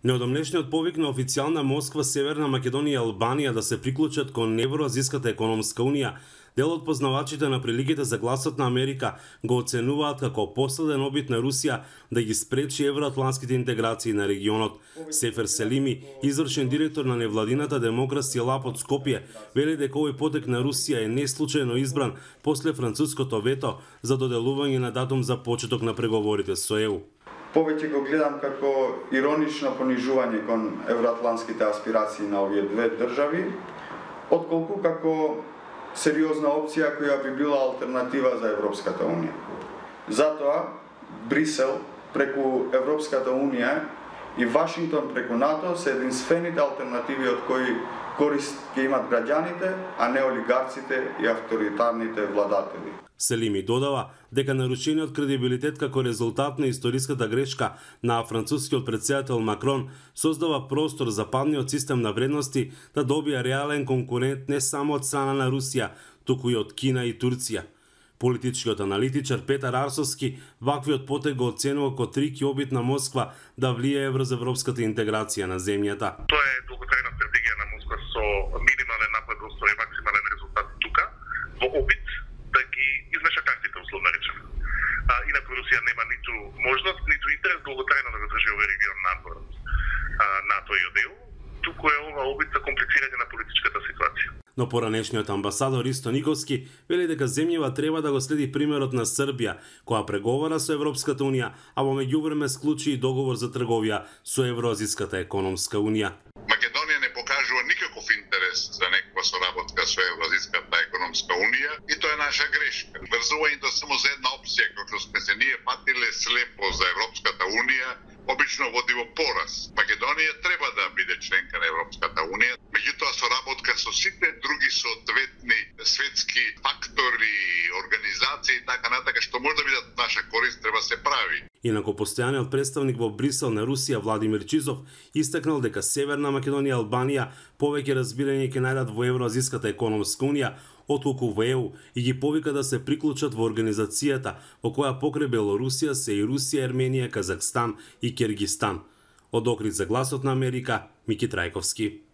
Неодамнешниот повик на официјална Москва, Северна Македонија и Албанија да се приклучат кон Евроазиската економска унија, дел од познавачите на приликите за гласот на Америка го оценуваат како последен обид на Русија да ги спречи евроатлантските интеграции на регионот. Сефер Селими, извршен директор на невладината Демокраси Лаб од Скопје, вели дека овој потек на Русија е неслучајно избран после француското вето за доделување на датум за почеток на преговорите со ЕУ. Повеќе го гледам како иронично понижување кон евроатлантските аспирации на овие две држави, отколку како сериозна опција која би била алтернатива за Европската унија. Затоа Брисел преку Европската унија и Вашингтон преку НАТО се единствените алтернативи од кои корист ќе имат граѓаните, а не олигарците и авторитарните владатели. Селими додава дека нарушениот кредибилитет како резултат на историската грешка на францускиот претседател Макрон создава простор за падниот систем на вредности да добија реален конкурент не само од страна на Русија, туку и од Кина и Турција. Политичкиот аналитичар Петар Арсовски ваквиот потек го оценува како трики обид на Москва да влијае врз европската интеграција на земјата. Тоа е долготрајна стратегија на Москва со минимален напредоство и максимален резултат тука, во обид да ги измеша картите, условно речено. Инаку Русија нема ниту можност, ниту интерес долготрајно да го држи овој регион надвор НАТО и од ЕУ, туку е ова обид за комплицирање на политичката ситуација. Но поранешниот амбасадор Ристо Николски вели дека земјава треба да го следи примерот на Србија, која преговара со Европската унија, а во меѓувреме склучи и договор за трговија со Евроазиската економска унија. Македонија не покажува никаков интерес за некаква соработка со Евроазиската економска унија и тоа е наша грешка. Врзувањето само за една опција, како сме се ние патиле слепо за Европската унија, обично води во пораз. Македонија треба да биде членка на Европската унија, меѓутоа соработка со сите други соодветни светски фактори, организации и така натака што може да бидат наша корист, треба се прави. Инаку постојаниот представник во Брисел на Русија Владимир Чизов истакнал дека Северна Македонија и Албанија повеќе разбирање ќе најдат во Евроазиската економска унија отколку во ЕУ и ги повика да се приклучат во организацијата во која покрај Белорусија се и Русија, Ерменија, Казахстан и Киргистан. Од Охрид за гласот на Америка, Мики Трајковски.